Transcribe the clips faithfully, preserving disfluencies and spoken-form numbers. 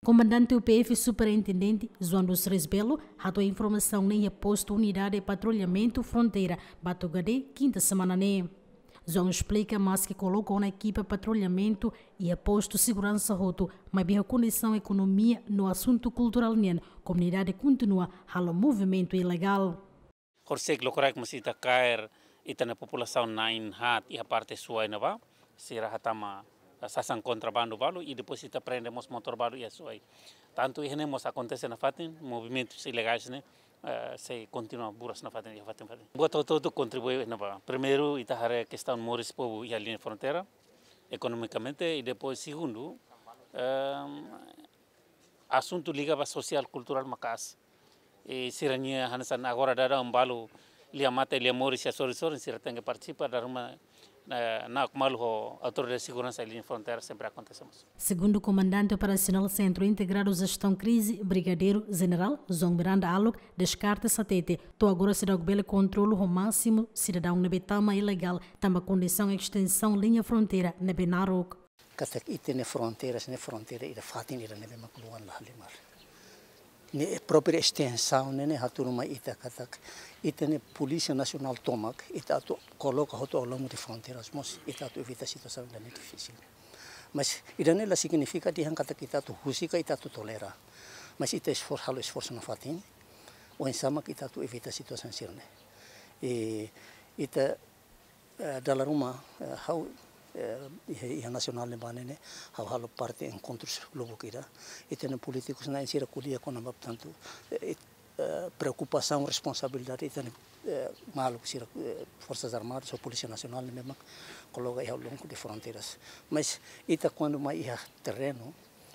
Komandante U P F Superintendente João dos Reis Belo hato'o informasaun ne'e iha postu Unidade Patrullamentu Fronteira Batugade, kinta semana ne'e. João esplika, maske koloka ona ekipa patrullamentu iha postu seguransa hotu, maibé iha kondisaun ekonomia no asuntu kulturál nian, komunidade kontinua halo movimentu ilegál. Horisehik lokraik mós ita kaer ita-nia populasaun na'in haat iha parte Suai ne'ebá, sira hatama, eh, sasán kontrabandu balu, i depois ita prende mós motór balu iha Suai. Tantu iha ne'e mós akontese nafatin, movimentus ilegais ne'e, eh, sei kontinua buras nafatin, iha fatin-fatin. Buat hotu-hotu kontribui ne'ebá. Primeiru, ita haree kestaun moris povu iha liña fronteira, ekonomikamente, i depois segundu, ehm, asuntu liga ba sosiál kulturál maka'as. I sira-nia hanesan agora daudaun balu lia mate, lia moris, lia sorin-sorin, sira tenke partisipa, dala ruma, eh, na'ok malu ho autoridade seguransa iha liña fronteira sempre akontese mós. Segundu Komandante Operasionál Sentru Integradu Jestaun Krize, Brigadeiru Jenerál João Miranda Alok, deskarta hatete, to'o agora seidauk bele kontrola ho másimu sidadaun ne'ebé tama ilegál, tanba kondisaun estensaun liña fronteira ne'ebé naruk. Katak ita-nia fronteiras ne'e fronteira ida fatin ida ne'ebé mak luan la halimar. Ne'e própriu estensaun ne'e, ne'e hatudu mai ita katak ita-nia Polísia Nasionál tomak, ita atu koloka hotu ao longo de fronteiras mós, ita atu evita situasaun ida ne'e difisil. Mas ida ne'e la signifika dehan katak ita atu husik ka ita atu tolera. Mas ita esfor-, halo esforsu nafatin, oinsá mak ita atu evita situasaun sira-ne'e. I ita, eh, dala ruma, eh, ha'u, eh, iha, iha nasionál ne'ebá ne'e, ha'u halo parte enkontrus lubuk ida. Ita-nia polítikus na'in sira ko'alia kona-ba tantu, eh, eh, preokupasaun, responsabilidade ita-nia, eh, maluk sira, eh, Forsas Armadas ou Polísia Nasionál ne'ebé mak koloka iha longu de fronteiras. Mas ita kuandu mai iha terrenu,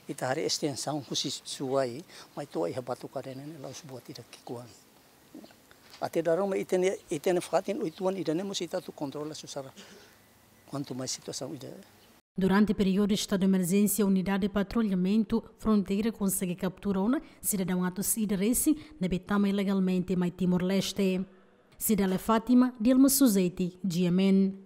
ita haree estensaun husi Suai mai to'o iha Batugade ne'e, ne'e la'ós buat ida ki'ikoan. Até dala ruma ita-nia, ita-nia fatin uitoan ida ne'e mós ita atu kontrola susar. Kuantu mai situasaun ida. Durante períodu estadu de emerjénsia, Unidade Patrullamentu Fronteira konsege kaptura ona sidadaun atus ida resin ne'ebé tama ilegalmente mai Timor-Leste. Cidália Fátima, Dilma Suzeti, G M N.